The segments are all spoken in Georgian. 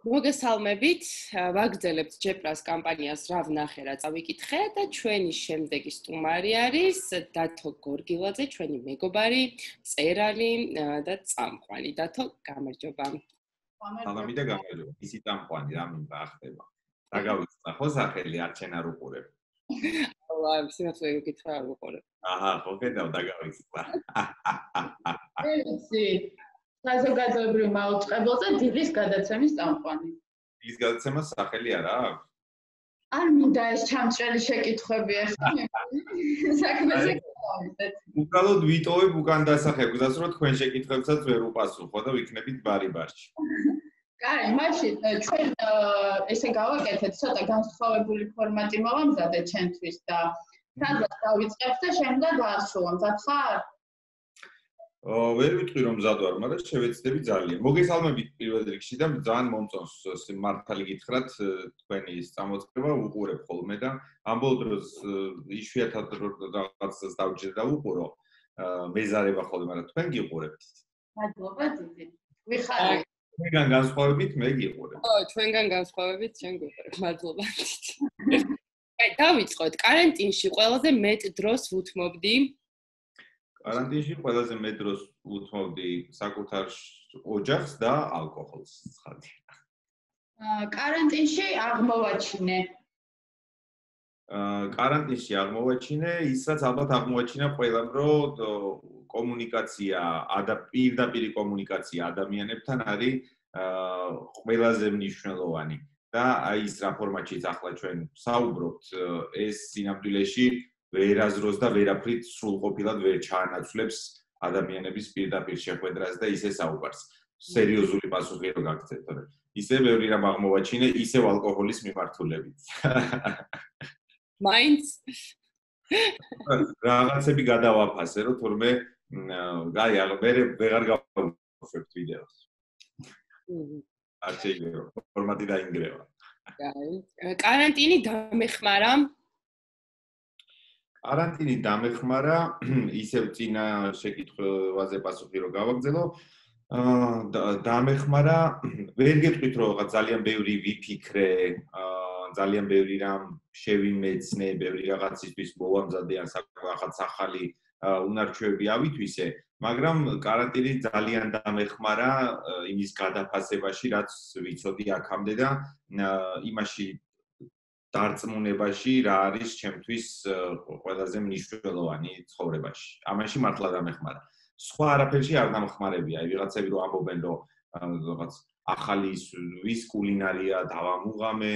მოგესალმებით, ვაგრძელებთ ჯეპრას კამპანიას რა ვნახე რა წავიკითხე და ჩვენი შემდეგი სტუმარი არის დათო გორგილაძე, ჩვენი მეგობარი, მწერალი და წამყვანი. დათო, გამარჯობა. სალამი და გამარჯობა. ისი წამყვანი რა მინდა ახდება. დაგავიწყდა ხო სახელი არჩენ არ უყურებ. აუ, სიმართლე გითხრა არ უყურებ. აჰა, ხო კიდევ დაგავიწყდა. ისი საზოგადოებრივ მაუწყებელზე დილის გადაცემის წამყვანი. დილის გადაცემას სახელი არა აქვს? არ მინდა ეს ჩამწრელი შეკითხვები ახლა. საქმეზე გავიდეთ. უკალოდ ვიტოვებ უკან დასახებებს, რომ თქვენ შეკითხვებსაც ვერ უპასუხო და ვიქნებით ბარი-ბარში. კაი, მაშინ ჩვენ ესე გავაკეთეთ, ცოტა განსხვავებული ფორმატი მოვამზადეთ ჩვენთვის და სადაც დავიწყებთ და შემდგომ დაასრულებთ. ხარ? ვერ ვიტყვი რომ მზად ვარ, მაგრამ შევეცდები ძალიან. მოგესალმებით პირველ რიგში და ძალიან მომწონს მართალი გითხრათ თქვენი წამოწყება უყურებ ხოლმე და ამ ბოლო დროს იშვიათად რაღაცას დავჯერ და უყურო. მეზარება ხოლმე, მაგრამ თქვენ გიყურებთ. მადლობა დიდი. ვიხარით. თქვენგან განსხვავებით მე გიყურებ. ო, ჩვენგან განსხვავებით ჩვენ გიყურებ. მადლობა დიდი. აი, დავიწყოთ. კარანტინში ყველაზე მეტ დროს ვუთმობდი. კარანტინში ყველაზე მეტ დროს უთმობდი საკუთარ ოჯახს და ალკოჰოლს. კარანტინში აღმოვაჩინე. კარანტინში აღმოვაჩინე ისაც ალბათ აღმოვაჩინა ყველამ, რომ კომუნიკაცია, პირდაპირი კომუნიკაცია ადამიანებთან არის ყველაზე მნიშვნელოვანი. და აი ის რა ფორმატშიც ახლა ჩვენ საუბრობთ, ეს სინამდვილეში ვერაზროს და ვერაფრით სრულყოფილად ვერ ჩაანაცვლებს ადამიანების პირდაპირ შეხვედრას და ისე საუბარს. სერიოზული პასუხი რო გაგცეთ, თორე ისე ბევრი რამ აღმოვაჩინე, ისევ ალკოჰოლის მიმართულებით. მაინც რაღაცები გადავაფასე, რომ თორმე აი მე ვეღარ გავუშვებთ ვიდეოს. არ შეიძლება ფორმატი დაინგრევა. კარანტინი დამეხმარა. კარანტინი დამეხმარა, ისევ წინა შეკითხვაზე პასუხი რო გავაგზელო. დამეხმარა, ვერ გეტყვით რომ რაღაც ძალიან ბევრი ვიფიქრე, ძალიან ბევრი რამ შევიმეცნე, ბევრი რაღაცისთვის მოვამზადე ან რაღაც ახალი უნარჩვევები ავითვისე, მაგრამ კარანტინი ძალიან დამეხმარა იმის გადაფასებაში, რაც ვიცოდი აქამდე და იმაში დარწმუნებაში რა არის ჩემთვის ყველაზე მნიშვნელოვანი ცხოვრებაში. ამაში მართლა დამეხმარა. სხვა არაფერში არ დამხმარებია. აი ვიღაცები რო ამბობენ რომ რაღაც ახალი ვის კულინარია დავამუღამე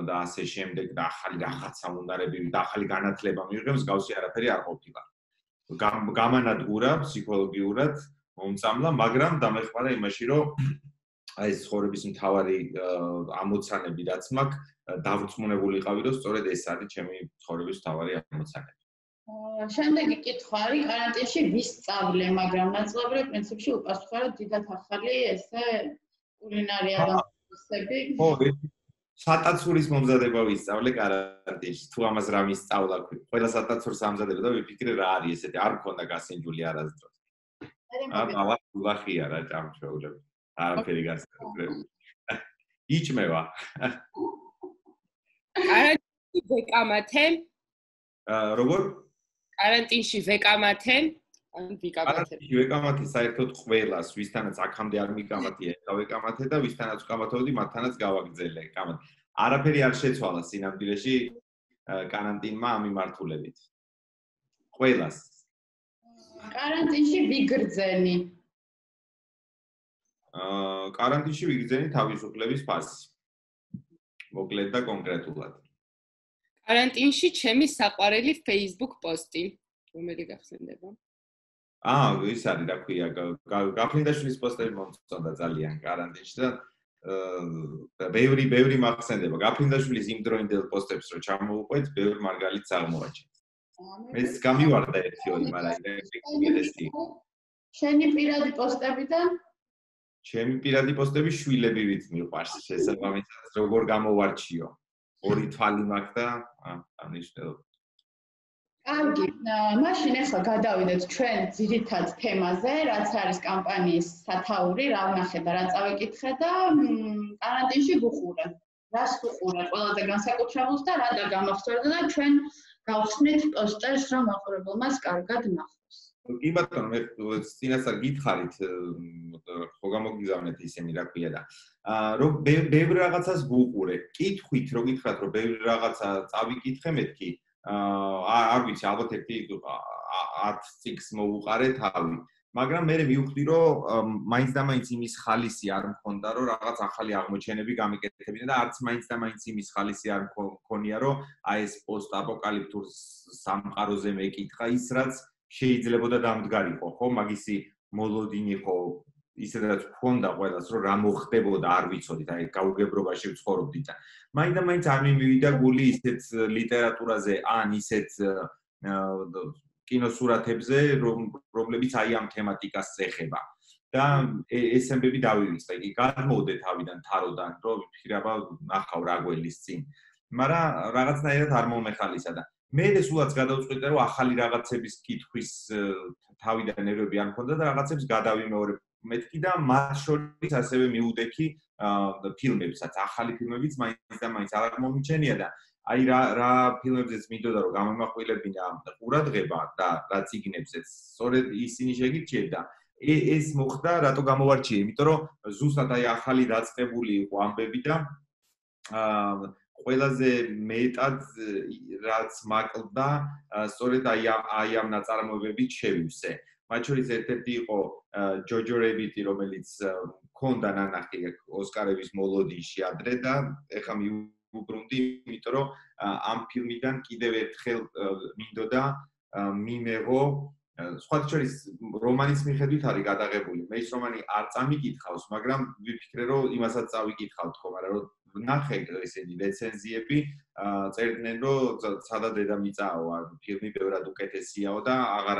და ასე შემდეგ და ახალი რაღაცა უნარები და ახალი განათლება მიიღებს, გავსი არაფერი არ ყოფილა. გამანადგურა ფსიქოლოგიურად მომწამლა, მაგრამ დამეხმარა იმაში რომ აი ეს ცხოვრების მთავარი ამოცანები რაც მაქვს დავრწმუნებული იყავი რომ სწორედ ეს არის ჩემი ცხოვრების მთავარი ამოცანები. შემდეგი კითხვა არის კარანტინში ვისწავლე, მაგრამ ნაწილობრივ პრინციპში უპასუხო რომ დიდად ახალი ესე კულინარია განსხვავებები. ხო, სატაცურის მომზადება ვისწავლე კარანტინში. თუ ამას რა მისწავლა, ყველა სატაცურს ამზადება და ვიფიქრე რა არის ესეთი, არ მქონდა გასინჯული არასდროს. აბა, ვლახია რა ჭამჩეულები. არაფერი გასაგებია. იჭმევა. კარანტინში ვეკამათე. როგორ? კარანტინში ვეკამათე. ან ვიკამათე. კარანტინში ვეკამათე საერთოდ ყველას, ვისთანაც აქამდე არ მიკამათია, გავეკამათე და ვისთანაც ვკამათებდი, მათთანაც გავაგრძელე კამათი. არაფერი არ შეცვალა სინამდვილეში კარანტინმა ამ მიმართულებით. ყველას. კარანტინში ვიგრძენი. კარანტინში ვიგრძენი თავისუფლების ფასი. მოკლედ და კონკრეტულად. კარანტინში ჩემი საყვარელი Facebook პოსტი. რომელი გახსენდება? ის არის რა ქვია, გაფრინდაშვილის პოსტები მომწონდა ძალიან კარანტინში და ბევრი მახსენდება. გაფრინდაშვილის იმ დროინდელ პოსტებს რო ჩამოვუყვეთ, ბევრ მარგალიტს აღმოვაჩინეთ. მეც გამივარდა ერთი-ორი, მაგრამ ეს შენი პირადი პოსტებიდან? ჩემი პირადი პოსტები შვილებივით მიყვარს, შესაბამისად როგორ გამოვარჩიო. ორი თვალი მაქვს და ამნიშნელობა. კარგი, მაშინ ახლა გადავიდეთ ჩვენ ძირითად თემაზე, რაც არის კამპანიის სათაური, რა ვნახე და რა წავიკითხე და კარანტინში გუყურე. რას ვუყურე ყველაზე განსაკუთრებულს და რა გამახსოვდა და ჩვენ გავხსნით პოსტერს, რომ მაყურებელმაც კარგად ნახოს. კი ბატონო, მე წინასწარ გითხარით, ხო გამოგიგზავნეთ ისინი რა ქვია და რომ ბევრ რაღაცას ვუყურე. კითხვით რო გითხრათ, რომ ბევრ რაღაცა წავიკითხე მეთქი, არ ვიცი, ალბათ ერთი 10 წიგნს მოვუყარე თავი. მაგრამ მე მივხვდი, რომ მაინც და მაინც იმის ხალისი არ მქონდა, რომ რაღაც ახალი აღმოჩენები გამიკეთებინა და არც მაინც და მაინც იმის ხალისი არ მქონია, რომ აი ეს პოსტაპოკალიფტურ სამყაროზე მეკითხა ის, რაც შეიძლებოდა დამდგარიყო, ხო? მაგისი მოლოდინი ხო ისედაც მქონდა ყველას, რომ რა მოხდებოდა, არ ვიცოდით, აი გაუგებრობაში ვცხოვრობდით და მაინც და მაინც არ მიმივიდა გული ისეთ ლიტერატურაზე, ან ისეთ კინოსურათებზე, რომლებიც აი ამ თემატიკას ეხება. და ეს ამბები დავივიწყე, იგი გადმოვდე თავიდან თაროდან, რომ ვფიქრება ნახავ რა გველის წინ. მაგრამ რაღაცნაირად არ მომეხალისა და მე სულაც გადავწყვიტე, რომ ახალი რაღაცების კითხვის თავიდან ნერვები არ მქონდა და რაღაცებს გადავიმეორებ მეთქი და მათ შორის ასევე მიუდექი ფილმებსაც, ახალი ფილმებიც მაინც და მაინც არ მომიჩენია და აი რა ფილმებზეც მინდოდა რომ გამომახვილებინა ყურადღება და რა წიგნებზეც, სწორედ ისინი შეგირჩიეთ და ეს მოხდა, რატო გამოვარჩიე, იმიტომ რომ ზუსტად აი ახალი დაწყებული იყო ამბები და ყველაზე მეტად რაც მაკლდა, სწორედ აი ამ ნაწარმოებებით შევივსე. მათ შორის ერთ-ერთი იყო ჯოჯო рэბიტი, რომელიც მქონდა ნანახი ოსკარების მოლოდინში ადრე და ეხლა უბრუნდი, იმიტომ რომ ამ ფილმიდან კიდევ ერთხელ მინდოდა მიმეღო სხვათა შორის რომანის მიხედვით არის გადაღებული. მე ის რომანი არ წამიკითხავს, მაგრამ ვიფიქრე რომ იმასაც წავიკითხავ თქო, მაგრამ რომ ნახე ესენი რეცენზიები, წერდნენ რომ სადა დედამიწაო, ფილმი ბევრად უკეთესიაო და აღარ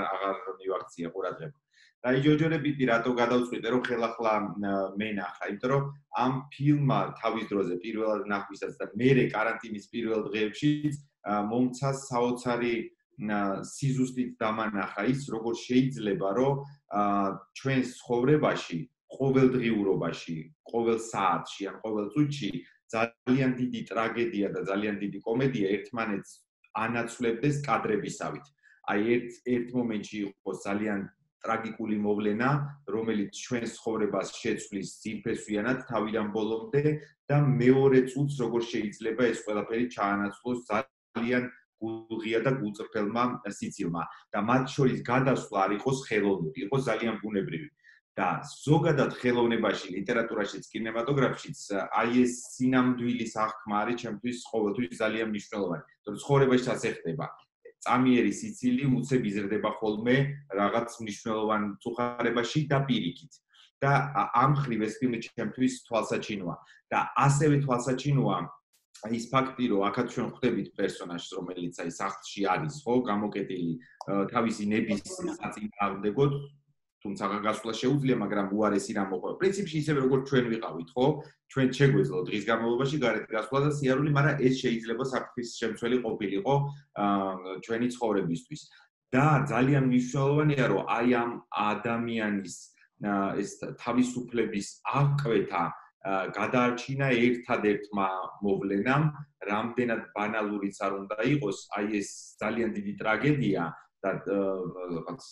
მივაქცია ყურადღება. და აი ჯოჯო рэბიტი რატო გადავწყვიტე რომ ხელახლა მე ნახა, იმიტომ რომ ამ ფილმმა თავის დროზე პირველად ნახვისაც და მერე კარანტინის პირველ დღეებშიც მომცა საოცარი სიზუსტით დამანახა ის, როგორ შეიძლება რომ ჩვენს ცხოვრებაში, ყოველდღიურობაში, ყოველ საათში ან ყოველ წუთში ძალიან დიდი ტრაგედია და ძალიან დიდი კომედია ერთმანეთს ანაცვლებდეს კადრებისავით. აი ერთ მომენტში იყო ძალიან ტრაგიკული მოვლენა, რომელიც ჩვენს ცხოვრებას შეცვლის ძირფესვიანად თავიდან ბოლომდე და მეორე წუთს როგორ შეიძლება ეს ყველაფერი ჩაანაცვლოს ძალიან გულღია და გულწრფელმა სიცილმა და მათ შორის გადასვლა არ იყოს ხელოვნური, იყოს ძალიან ბუნებრივი. და ზოგადად ხელოვნებაში, ლიტერატურაშიც, კინემატოგრაფშიც აი ეს სინამდვილის აღქმა არის ჩემთვის ყოველთვის ძალიან მნიშვნელოვანი. თორემ ცხოვრებაშიც ეხება. წამიერი სიცილი უცებ იზრდება ხოლმე რაღაც მნიშვნელოვან წუხარებაში და პირიქით. და ამ ხრივ ეს ფილმი ჩემთვის თვალსაჩინოა. და ასევე თვალსაჩინოა ის ფაქტი, რომ აქაც ჩვენ ხვდებით პერსონაჟს, რომელიც აი სახლში არის, ხო, გამოკეტილი თავისი ნების საწინააღმდეგოდ, თუმცა გასვლა შეუძლია, მაგრამ უარესი რამ მოყვება. პრინციპში ისევე როგორც ჩვენ ვიყავით, ხო? ჩვენ შეგვეძლო დღის განმავლობაში გარეთ გასვლა და სიარული, მაგრამ ეს შეიძლება საფრთხის შემცველი ყოფილიყო ჩვენი ცხოვრებისთვის. და ძალიან მნიშვნელოვანია, რომ აი ამ ადამიანის ეს თავისუფლების აღკვეთა გადაარჩინა ერთადერთმა მოვლენამ, რამდენად ბანალურიც არ უნდა იყოს, აი ეს ძალიან დიდი ტრაგედია და რაღაც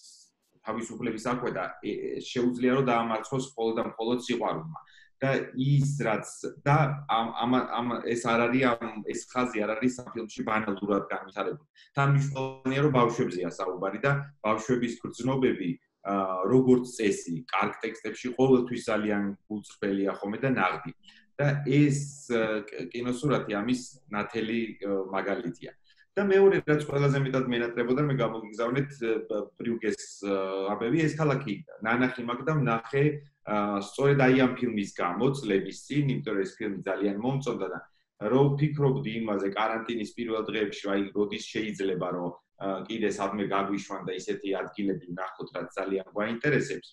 თავისუფლების აღკვეთა შეუძლია რომ დაამარცხოს მხოლოდ და მხოლოდ სიყვარულმა. და ის რაც და ეს არ არის ეს ხაზი არ არის ამ ფილმში ბანალურად განვითარებული. თან მნიშვნელოვანია რომ ბავშვებზეა საუბარი და ბავშვების გრძნობები როგორც წესი, კარგ ტექსტებში ყოველთვის ძალიან გულწრფელია ხოლმე და ნაღდი. და ეს კინოსურათი ამის ნათელი მაგალითია. და მეორე რაც ყველაზე მეტად მენატრებოდა, მე გამოგიგზავნეთ ბრიუგეს ამბები, ეს ქალაქი ნანახი მაგდა ვნახე სწორედ აი ამ ფილმის გამო წლების წინ, იმიტომ რომ ეს ფილმი ძალიან მომწონდა და რომ ვფიქრობდი იმაზე კარანტინის პირველ დღეებში, აი როდის შეიძლება რომ კიდე სადმე გაგვიშვან და ისეთი ადგილები ვნახოთ, რაც ძალიან გვაინტერესებს.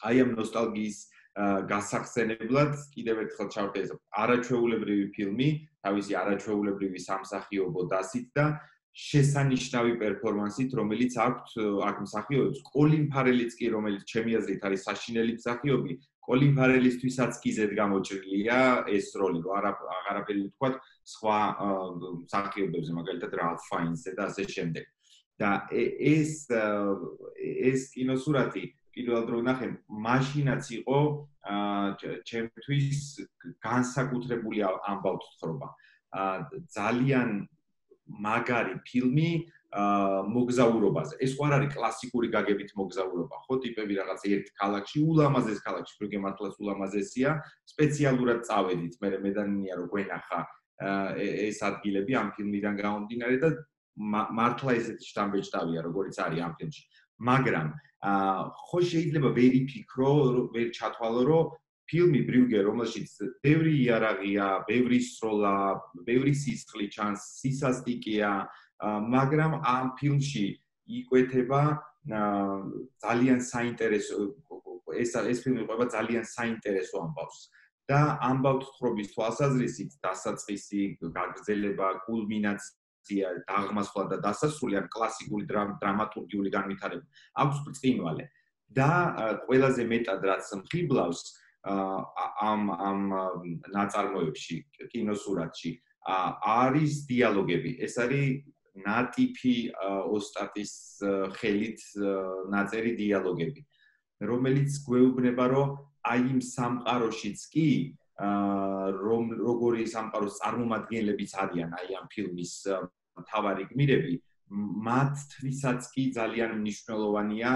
აი ამ ნოსტალგიის გასახსენებლად კიდევ ერთხელ ჩავხდე ეს არაჩვეულებრივი ფილმი, თავისი არაჩვეულებრივი სამსახიობო დასით და შესანიშნავი პერფორმანსით, რომელიც აქვს აქ მსახიობებს. კოლინ ფარელიც კი, რომელიც ჩემი აზრით არის საშინელი მსახიობი, კოლინ ფარელისთვისაც კი ზედ გამოჭრილია ეს როლი, რომ აღარაფერი ვთქვათ სხვა მსახიობებზე, მაგალითად რალფ ფაინსზე და ასე შემდეგ. და ეს კინოსურათი პირველად რო ვნახე, მაშინაც იყო ჩემთვის განსაკუთრებული ამბავთ თხრობა. ძალიან მაგარი ფილმი მოგზაურობაზე. ეს ხო არ არის კლასიკური გაგებით მოგზაურობა, ხო? ტიპები რაღაც ერთ ქალაქში, ულამაზეს ქალაქში, პროგრამ მართლაც ულამაზესია, სპეციალურად წავედით, მე დანია რომ გვენახა ეს ადგილები ამ ფილმიდან გამომდინარე და მართლა ესეთი შტამბეჭდავია, როგორიც არის ამ ფილმში. მაგრამ ხო შეიძლება ვერ იფიქრო, ვერ ჩათვალო, რომ ფილმი ბრიუგე, რომელშიც ბევრი იარაღია, ბევრი სროლა, ბევრი სისხლი ჩანს, სისასტიკეა, მაგრამ ამ ფილმში იკვეთება ძალიან საინტერესო ეს ფილმი ყვება ძალიან საინტერესო ამბავს. და ამბავთ თხრობის თვალსაზრისით დასაწყისი, გაგრძელება, კულმინაცია, დაღმასვლა და დასასრული ან კლასიკური დრამატურგიული განვითარება აქვს ბრწყინვალე. და ყველაზე მეტად რაც მხიბლავს ამ ნაწარმოებში, კინოსურათში არის დიალოგები. ეს არის ნატიფი ოსტატის ხელით ნაწერი დიალოგები, რომელიც გვეუბნება, რომ აი იმ სამყაროშიც კი როგორი სამყაროს წარმომადგენლებიც არიან აი ამ ფილმის მთავარი გმირები, მათთვისაც კი ძალიან მნიშვნელოვანია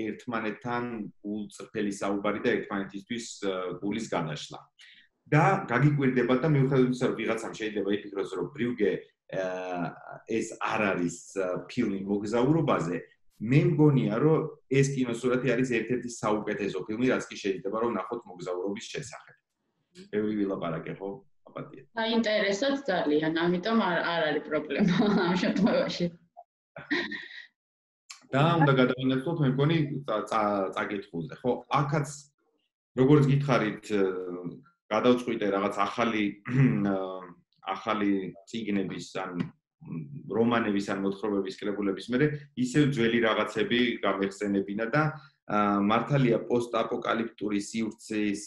ერთმანეთთან გულწრფელი საუბარი და ერთმანეთისთვის გულის გადაშლა. და გაგიკვირდება და მიუხედავად იმისა, რომ ვიღაცამ შეიძლება იფიქროს, რომ ბრიუგე ეს არ არის ფილმი მოგზაურობაზე, მე მგონია, რომ ეს კინოსურათი არის ერთ-ერთი საუკეთესო ფილმი, რაც კი შეიძლება რომ ნახოთ მოგზაურობის შესახებ. ბევრი ვილაპარაკე, ხო? აპატიეთ. საინტერესოც ძალიან, ამიტომ არ არის პრობლემა ამ შემთხვევაში. და უნდა გადავინაცვლოთ, მე მგონი წაკითხულზე. ხო, აქაც როგორც გითხარით, გადავწყვიტე რაღაც ახალი წიგნების ან რომანების ან მოთხრობების კრებულების მერე ისევ ძველი რაღაცები გამეხსენებინა და მართალია პოსტაპოკალიფტური სივრცის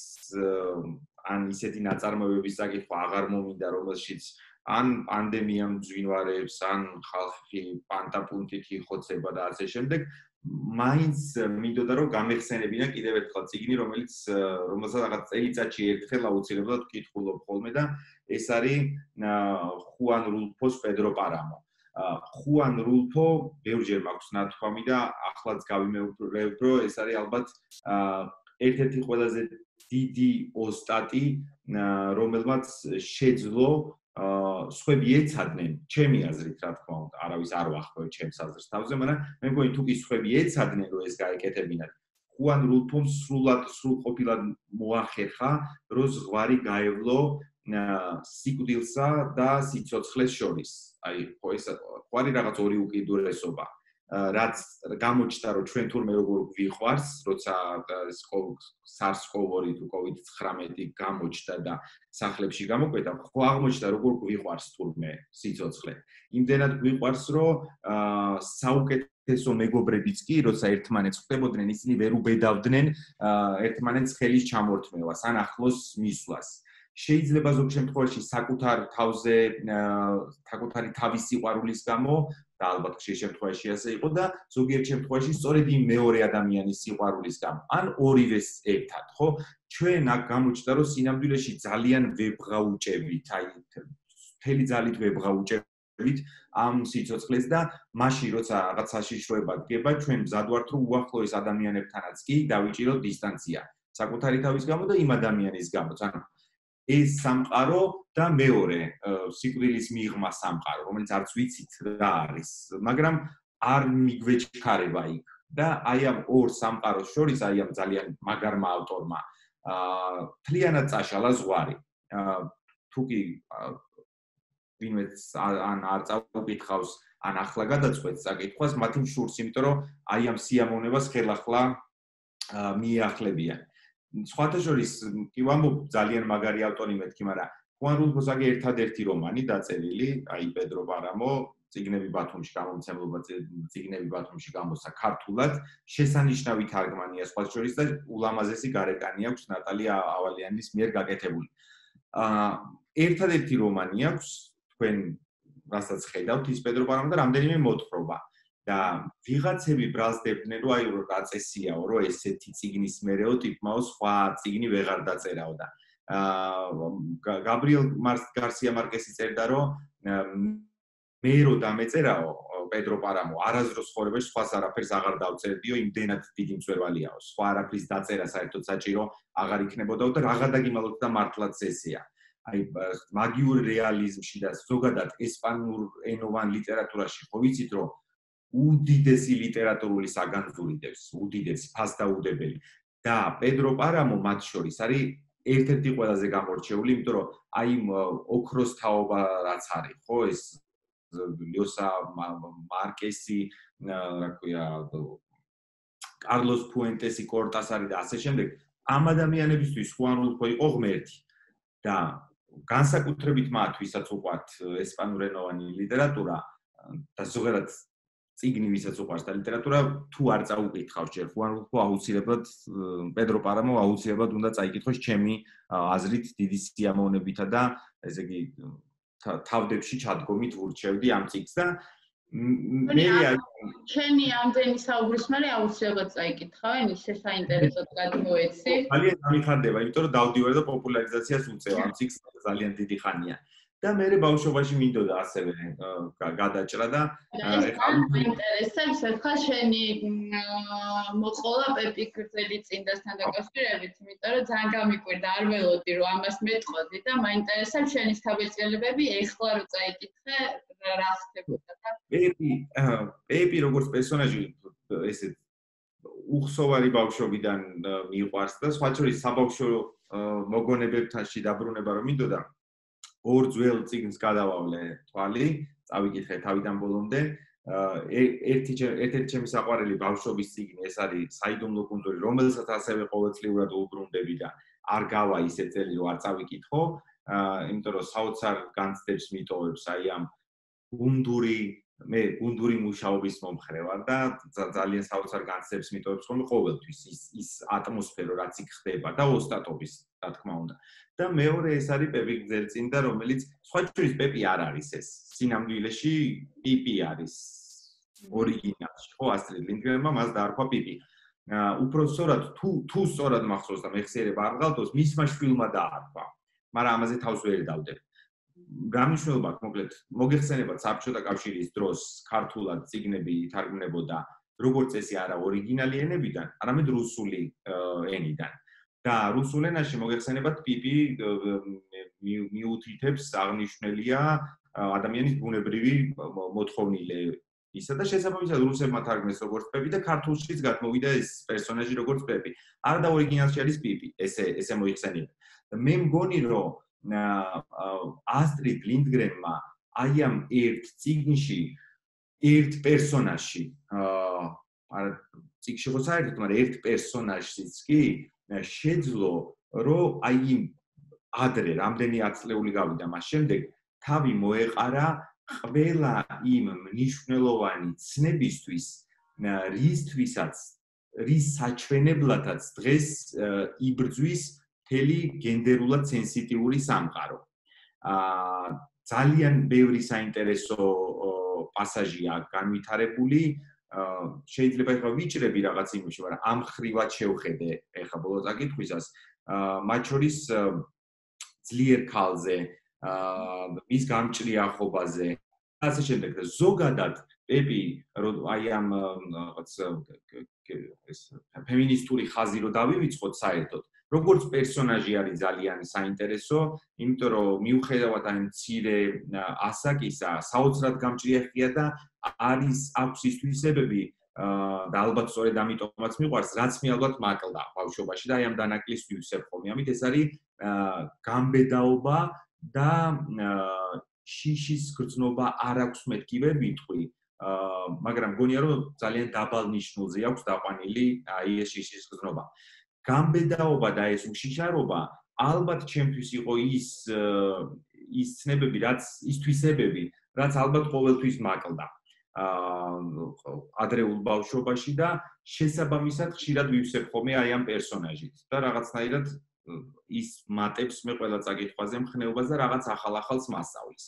ან ისეთი ნაწარმოებების საკითხვა აღარ მომინდა, რომელშიც ან პანდემია მძვინვარებს, ან ხალხი პანტაპუნტით იხოცება და ასე შემდეგ, მაინც მინდოდა რომ გამეხსენებინა კიდევ ერთხელ წიგნი, რომელსაც რაღაც წელიწადში ერთხელ აუცილებლად ვკითხულობ ხოლმე და ეს არის ხუან რულფოს პედრო პარამო. ხუან რულფო ბევრჯერ მაქვს ნათქვამი და ახლაც გავიმეორებ, რომ ეს არის ალბათ ერთ-ერთი ყველაზე დიდი ოსტატი, რომელმაც შეძლო სხვები ეცადნენ, ჩემი აზრით, რა თქმა უნდა, არავის არ ვახმოვ ჩემს აზრს თავზე, მაგრამ მე მგონი თუ კი სხვები ეცადნენ, რომ ეს გაეკეთებინათ, ხუან რულფომ სრულყოფილად მოახერხა, რომ ზღვარი გაევლო სიკვდილსა და სიცოცხლეს შორის. აი, ხო ეს ყარი რაღაც ორი უკიდურესობა, რაც გამოჩნდა, რომ ჩვენ თურმე როგორ გვიყვარს, როცა SARS-CoV-2 თუ COVID-19 გამოჩნდა და სახლებში გამოკვეთა, ხო აღმოჩნდა, როგორ გვიყვარს თურმე სიცოცხლე. იმდენად გვიყვარს, რომ საუკეთესო მეგობრებიც კი, როცა ერთმანეთს ხვდებოდნენ, ისინი ვერ უბედავდნენ ერთმანეთს ხელის ჩამორთმევას ან ახლოს მისვლას. შეიძლება ზოგ შემთხვევაში საკუთარი თავის სიყვარულის გამო და ალბათ ხშირ შემთხვევაში ასე იყო და ზოგიერთ შემთხვევაში სწორედ იმ მეორე ადამიანის სიყვარულის გამო ან ორივეს ერთად, ხო? ჩვენ აქ გამოჩნდა, რომ სინამდვილეში ძალიან ვებღაუჭებით, აი მთელი ძალით ვებღაუჭებით ამ სიცოცხლეს და მაშინ როცა რაღაც საშიშროება დგება, ჩვენ მზად ვართ, რომ უახლოეს ადამიანებთანაც კი დავიჭიროთ დისტანცია, საკუთარი თავის გამო და იმ ადამიანის გამოც. ანუ ეს სამყარო და მეორე სიკვდილის მიღმა სამყარო, რომელიც არც ვიცით რა არის, მაგრამ არ მიგვეჩქარება იქ. და აი ამ ორ სამყაროს შორის, აი ამ ძალიან მაგარმა ავტორმა მთლიანად წაშალა ზღვარი. თუ კი ვინმეც ან არ წაუკითხავს, ან ახლა გადაწყვეტს საკითხვას, მათი მშურს, იმიტომ რომ აი ამ სიამოვნებას ხელახლა მიეახლებიან. სხვათა შორის კი ვამბობ ძალიან მაგარი ავტორი მეთქი, მაგრამ ხუან რულფოს აგე ერთადერთი რომანი დაწერილი, აი პედრო პარამო, წიგნები ბათუმში გამომცემლობა წიგნები ბათუმში გამოსცა ქართულად, შესანიშნავი თარგმანია სხვა შორის და ულამაზესი გარეკანი აქვს ნატალია ავალიანის მიერ გაკეთებული. ერთადერთი რომანი აქვს თქვენ რასაც ხედავთ ის პედრო პარამო და რამდენიმე მოთხრობა. და ვიღაცები ბრალსდებდნენ რომ აი რომ დაწესიაო რომ ესეთი წიგნის მერეო ტიპმაო სხვა წიგნი ვეღარ დაწერაო და გაბრიელ გარსია მარკესი წერდა რომ მე რო დამეწერაო პედრო პარამო არასდროს ხორებაში სხვას არაფერს აღარ დავწერდიო იმდენად დიდი მწვერვალიაო სხვა არაფრის დაწერა საერთოდ საჭირო აღარ იქნებოდაო და რაღა დაგიმალოთ და მართლაც ესეა აი მაგიურ რეალიზმში და ზოგადად ესპანურ ენოვან ლიტერატურაში ხო ვიცით რომ უდიდესი ლიტერატურული საგანძურიდებს უდიდესი ფასდაუდებელი და პედრო პარამო მათ შორის არის ერთ-ერთი ყველაზე გამორჩეული იმიტომ რომ აი ოქროს თაობა რაც არის ხო ეს ლიოსა მარკესი რა ქვია კარლოს ფუენტესი კორტასარი და ასე შემდეგ ამ ადამიანებისთვის ხუანულფო იყო ღმერთი და განსაკუთრებით მათ ვისაც უყვართ ესპანურენოვანი ლიტერატურა და ზოგადად წიგნი ვისაც უყვარს და ლიტერატურა თუ არ წაუკითხავს ჯერ ხუანულფო აუცილებლად პედრო პარამო აუცილებლად უნდა წაიკითხოს ჩემი აზრით დიდი სიამოვნებითა და ესე იგი თავდებში ჩადგომით ვურჩევდი ამ წიგნს და ჩემი ამდენი საუბრის მერე აუცილებლად წაიკითხავენ ისე საინტერესოდ გადმოეცი ძალიან დამიხარდება იმიტომ რომ დავდივარ და პოპულარიზაციას უწევ ამ წიგნს ძალიან დიდი ხანია და მე ბავშვობაში მინდოდა ასევე გადაჭრა და მაინტერესებს ახლა შენი მოყოლა პეპი გრძელი წინდასთან დაკავშირებით იმიტომ რომ ძალიან გამიკვირდა არ ველოდი რომ ამას მეტყოდი და მაინტერესებს შენი თავისწინებები ეხლა რო წაიკითხე რა ხდებოდა და პეპი როგორც პერსონაჟი ესე უხსოვარი ბავშვობიდან მიყვარს და სხვა შორის საბავშვო მოგონებებთან დაბრუნება რომ მინდოდა ორ ძველ წიგნს გადავავლე თვალი, წავიკითხე თავიდან ბოლომდე. ერთ-ერთი ჩემი საყვარელი ბავშვობის წიგნი ეს არის საიდუმლო კუნძული, რომელსაც ასევე ყოველწლიურად უბრუნდები და არ გავა ისე წელი რომ არ წავიკითხო, იმიტომ რომ საოცარ განცდებს მიტოვებს აი ამ გუნდური მუშაობის მომხრე ვარ და ძალიან საოცარ განცდებს მიტოვებს ხოლმე ყოველთვის ის ატმოსფერო რაც იქ ხდება და ოსტატობის რა თქმა უნდა. და მეორე ეს არის პეპი გრძელწინდა, რომელიც სხვა შორის პეპი არ არის ეს. სინამდვილეში პიპი არის ორიგინალში, ხო, ასტრიდ ლინდგრენმა მას დაარქვა პიპი. უფრო სწორად თუ სწორად მახსოვს და მეხსიერება არ გალტოს, მისმა შვილმა დაარქვა. მაგრამ ამაზე თავს ვერ დავდებ. გამიშველება მოკლედ მოგეხსენებათ საბჭოთა კავშირის დროს ქართულად წიგნები ითარგმნებოდა როგორც წესი არა ორიგინალი ენებიდან, არამედ რუსული ენიდან. და რუსულ ენაში მოგეხსენებათ პიპი მიუთითებს აღნიშნულია ადამიანის ბუნებრივი მოთხოვნილე ისა და შესაბამისად რუსებმა თარგმნეს როგორც პეპი და ქართულშიც გადმოვიდა ეს პერსონაჟი როგორც პეპი. არა და ორიგინალში არის პიპი, ესე მოიხსენიება. მე მგონი რომ ასტრიდ ლინდგრენმა აი ამ ერთ წიგნში ერთ პერსონაჟში არა წიგნში ხო საერთოდ, მაგრამ ერთ პერსონაჟშიც კი შეძლო რომ აი ადრე რამდენი ათწლეული გავიდა მას შემდეგ თავი მოეყარა ყველა იმ მნიშვნელოვანი ცნებისთვის რის საჩვენებლათაც დღეს იბრძვის მთელი გენდერულად სენსიტიური სამყარო. ძალიან ბევრი საინტერესო პასაჟია განვითარებული შეიძლება ეხლა ვიჭრები რაღაც იმაში, მაგრამ ამ ხრივად შევხედე ეხლა ბოლო წაკითხვისას, მათ შორის ძლიერ ქალზე, მის გამჭრიახობაზე, ასე შემდეგ. ზოგადად პეპი აი ამ რაღაც ეს ფემინისტური ხაზი რო დავივიწყოთ საერთოდ, როგორც პერსონაჟი არის ძალიან საინტერესო, იმიტომ რომ მიუხედავად ამ მცირე ასაკისა, საოცრად გამჭრიახია და აქვს ის თვისებები და ალბათ სწორედ ამიტომაც მიყვარს, რაც მე ალბათ მაკლდა ბავშვობაში და აი ამ დანაკლის ვივსებ ხოლმე. ამით ეს არის გამბედაობა და შიშის გრძნობა არ აქვს მეთქი ვერ ვიტყვი, მაგრამ მგონია რომ ძალიან დაბალ ნიშნულზე აქვს დაყვანილი აი ეს შიშის გრძნობა. გამბედაობა და ეს უშიშარობა ალბათ ჩემთვის იყო ის ცნებები, ის თვისებები, რაც ალბათ ყოველთვის მაკლდა ადრეულ ბავშვობაში და შესაბამისად ხშირად ვივსებ ხოლმე აი ამ პერსონაჟით და რაღაცნაირად ის მატებს მე ყველა წაკითხვაზე მხნეობას და რაღაც ახალ-ახალს მასწავლის.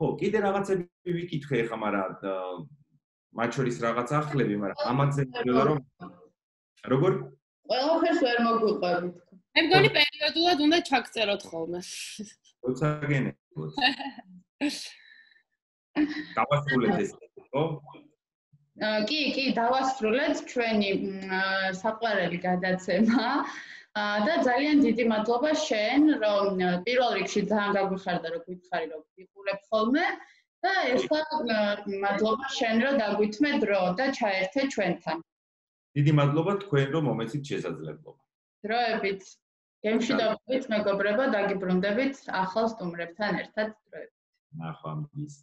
ხო, კიდე რაღაცები ვიკითხე ხა, მაგრამ მათ შორის რაღაც ახლები, მაგრამ ამაზე მინდოდა რომ როგორ? ყველაფერს ვერ მოგვიყვებით. მე მგონი პერიოდულად უნდა ჩაგწეროთ ხოლმე. როცა გენებოთ. დავასრულეთ ეს, ხო? კი, დავასრულეთ ჩვენი საყვარელი გადაცემა და ძალიან დიდი მადლობა შენ, რომ პირველ რიგში ძალიან გაგვიხარდა, რომ გითხარი, რომ ვიყურებ ხოლმე და ერთად მადლობა შენ, რომ დაგვითმე დრო და ჩაერთე ჩვენთან. დიდი მადლობა თქვენ, რომ მომეცით შესაძლებლობა. დროებით. გემში დავით მეგობრებო, დაგიბრუნდებით ახალ სტუმრებთან ერთად დროებით. ნახვამდის.